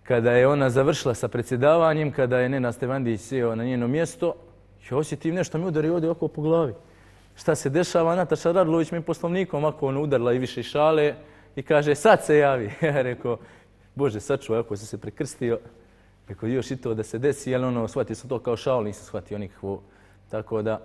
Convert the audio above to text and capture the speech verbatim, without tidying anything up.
kada je ona završila sa predsjedavanjem, kada je Nenad Stevandić sjeo na njeno mjesto, ja osjetim nešto mi udari ovdje oko po glavi. Šta se dešava? Nataša Radulović mi poslovnikom ako ono udarila i više šale i kaže sad se javi. Ja rekao, Bože sačuvaj ako si se prekrstio. Rekao još i to da se desi, ali ono, shvatio sam to kao šalu, nisam shvatio nikakvo. Tako da